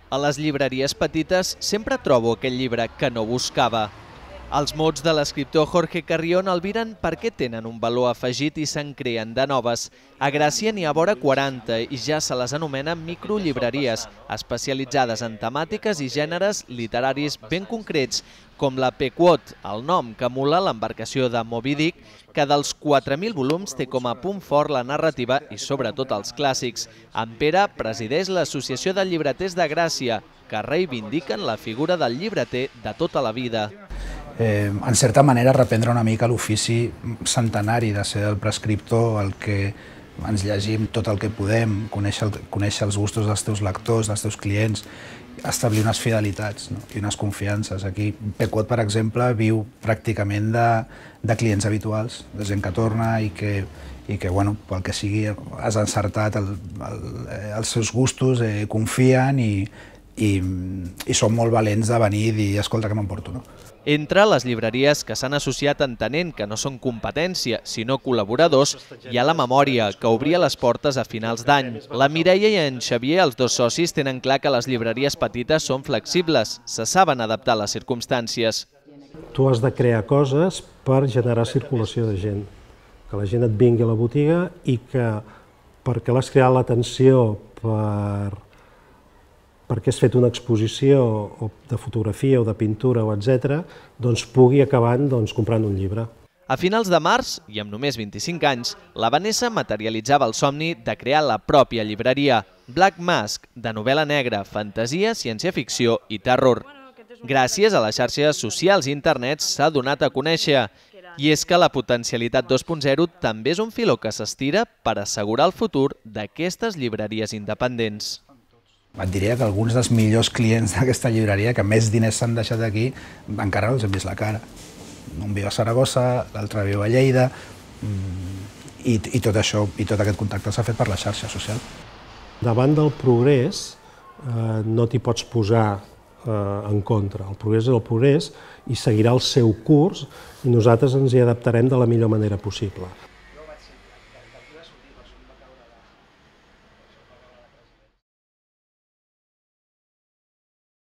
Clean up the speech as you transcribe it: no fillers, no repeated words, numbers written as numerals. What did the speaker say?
A les llibreries petites sempre trobo aquell llibre que no buscava. Els mots de l'escriptor Jorge Carrión el viren perquè tenen un valor afegit i se'n creen de noves. A Gràcia n'hi ha vora 40 i ja se les anomena microlibreries, especialitzades en temàtiques i gèneres literaris ben concrets, com la Pequot, el nom que emula l'embarcació de Moby Dick, que dels 4.000 volums té com a punt fort la narrativa i sobretot els clàssics. En Pere presideix l'Associació de Llibreters de Gràcia, que reivindiquen la figura del llibreter de tota la vida. En certa manera, reprendre una mica l'ofici centenari de ser el prescriptor, el que ens llegim tot el que podem, conèixer els gustos dels teus lectors, dels teus clients, establir unes fidelitats i unes confiances. Aquí, Pequot, per exemple, viu pràcticament de clients habituals, de gent que torna i que, pel que sigui, has encertat els seus gustos, confien i són molt valents de venir i dir, escolta, que m'emporto. Entre les llibreries que s'han associat entenent que no són competència, sinó col·laboradors, hi ha la Memòria, que obria les portes a finals d'any. La Mireia i en Xavier, els dos socis, tenen clar que les llibreries petites són flexibles, se saben adaptar a les circumstàncies. Tu has de crear coses per generar circulació de gent, que la gent et vingui a la botiga i que, perquè l'has creat l'atenció perquè has fet una exposició de fotografia o de pintura, etc., doncs pugui acabar comprant un llibre. A finals de març, i amb només 25 anys, la Vanessa materialitzava el somni de crear la pròpia llibreria, Black Mask, de novel·la negra, fantasia, ciència-ficció i terror. Gràcies a les xarxes socials i internet s'ha donat a conèixer. I és que la potencialitat 2.0 també és un filó que s'estira per assegurar el futur d'aquestes llibreries independents. Et diria que alguns dels millors clients d'aquesta llibreria, que més diners s'han deixat aquí, encara no els hem vist la cara. Un viu a Saragossa, l'altre viu a Lleida, i tot això, i tot aquest contacte s'ha fet per la xarxa social. Davant del progrés no t'hi pots posar en contra. El progrés és el progrés i seguirà el seu curs i nosaltres ens hi adaptarem de la millor manera possible.